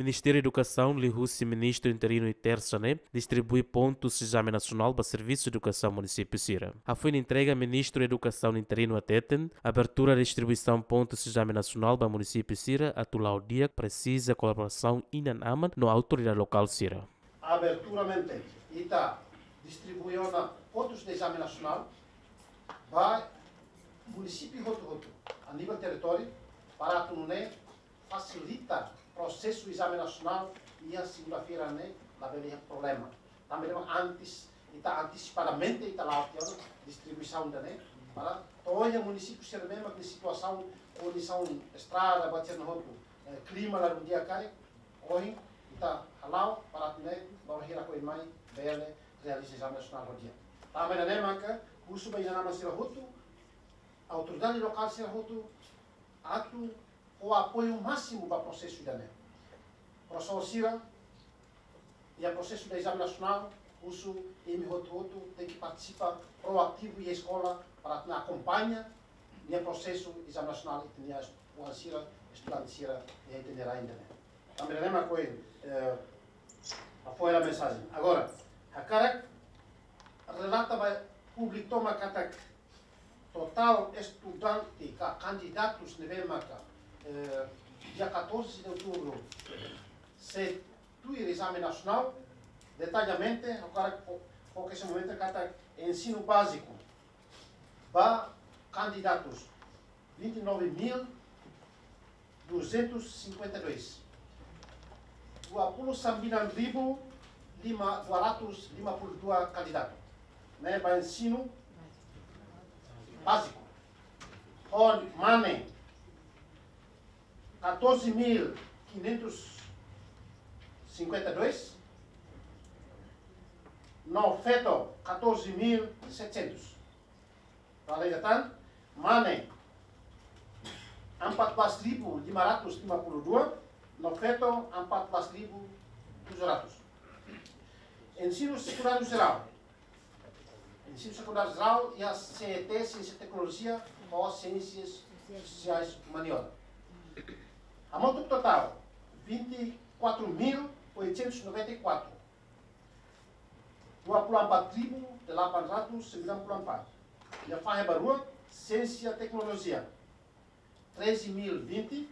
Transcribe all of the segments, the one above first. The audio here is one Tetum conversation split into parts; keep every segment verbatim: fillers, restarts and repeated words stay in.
Ministériu Edukasaun liuhusi Ministru Interinu iha Tersa ne'e distribui pontus ezame nasionál ba servisu edukasaun munisípiu sira. Hafoin entrega, Ministru Edukasaun Interinu hateten, abertura distribuisaun pontus ezame nasionál ba munisípiu sira atu la'o di'ak, presiza kolaborasaun inan-aman no autoridade lokál sira. Aberturamente, ita distribui ona pontus de ezame nasionál ba munisípiu hotu-hotu iha nivel territóriu, para atu nune'e fasilita prosesu ezame nasionál iha segunda-feira ne'e labele iha problema. Tanba ne'e mak antes, ita antisipadamente ita la'o tiha ona distribuisaun ida-ne'e, para to'o iha munisípiu sira ne'ebé mak iha situasaun, kondisaun estrada, buat sira-ne'e hotu, eh, klima ladún di'ak karik, ohin ita hala'o para atu nune'e bainhira oin mai bele realiza ezame nasionál ho di'ak. Tanba ne'e mak husu ba inan-aman sira hotu, autoridade lokál sira hotu, atu fó apoiu másimu ba prosesu ida-ne'e. Profesór sira, iha prosesu de ezame nasionál, husu imi hotu-hotu tenke partisipa proativu iha eskola para atu akompaña nia prosesu ezame nasionál ita-nia oan sira, estudante sira iha ita-nia rai ida-ne'e. Tanba ne'e mak ohin, eh, hafoin hela mensajen. Agora, hakarak relata ba públiku tomak katak totál estudante ka kandidatus ne'ebé maka, eh, dia catorze de outubro sei tuir ezame nasionál, detalladamente, agora fo-, foka iha momentu katak ensinu báziku ba kandidatus vinte e nove mil duzentos e cinquenta e dois. Dua puluh sembilan ribu lima, dua ratus lima puluh dua kandidatu. Ne'e ba ensinu báziku. Ho mane, catorze mil quinhentos cinquenta e dois. No feto, catorze mil e setecentos. Para ida tan, mane, empat belas ribu lima ratus lima puluh dua, no feto, empat belas ribu tujuh ratus. Ensinu sekundáriu jerál. Ensinu sekundáriu jerál iha C E T, Siénsia Teknolojia, ho Siénsias Sosiais Umaniora. Hamutuk totál, vinte e quatro mil oitocentos noventa e quatro. Dua puluh empat ribu delapan ratus sembilan puluh empat. Iha fahe ba rua, Siénsia Teknolojia, treze mil vinte.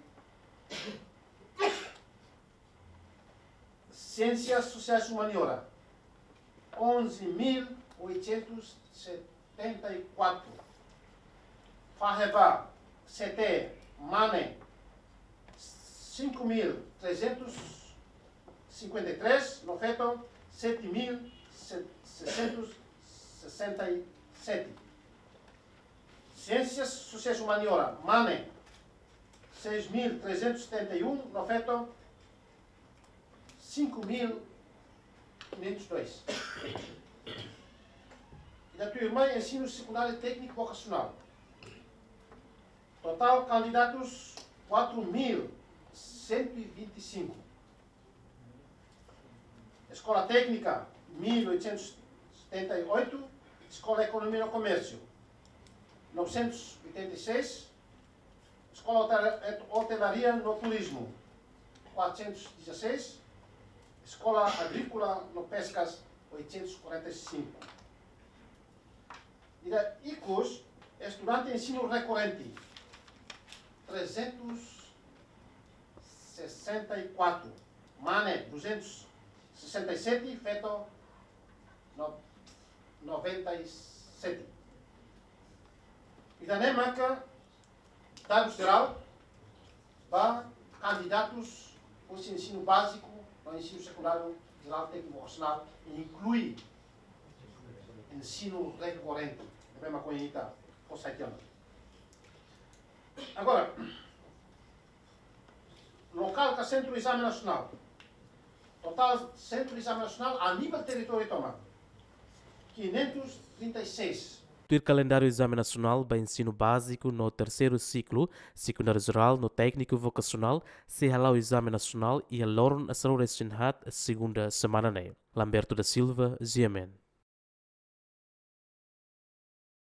Siénsias Sosiais Umaniora, onze mil oitocentos setenta e quatro. Fahe ba C T, mane, cinco mil trezentos cinquenta e três, no feto, sete mil seiscentos sessenta e sete. Siénsias Sosiais Umaniora, mane, seis mil trezentos setenta e um, no feto, cinco mil quinhentos e dois. Ida tuirmai, ensinu sekundáriu tékniku vokasionál. Totál kandidatus, quatro mil cento e vinte e cinco. Eskola Téknika, mil oitocentos setenta e oito. Eskola Ekonomia no Komérsiu, novecentos oitenta e seis. Eskola Hotel-, Hotelaria no Turizmu, quatrocentos e dezasseis. Eskola Agríkola no Peskas, oitocentos e quarenta e cinco. Ida ikus, estudante ensinu rekorrente, trezentos sessenta e quatro. Mane, duzentos sessenta e sete, feto, no-, noventa e sete. Ida-ne'e maka dadus jerál ba kandidatus husi ensinu báziku no ensinu sekundáriu jerál tékniku vokasionál, inklui ensinu rekorrente, ne'ebé mak ohin ita fó sai tiha ona. Agora, lokál ka sentru ezame nasionál. Totál sentru ezame nasionál iha nivel territóriu tomak, quinhentos e trinta e seis. Tuir kalendáriu ezame nasionál ba ensinu báziku no terseiru siklu, sekundáriu jerál no tékniku vokasionál, sei hala'o ezame nasionál iha loron hasoru resin haat, segunda semana ne'e. Lamberto da Silva, G M N.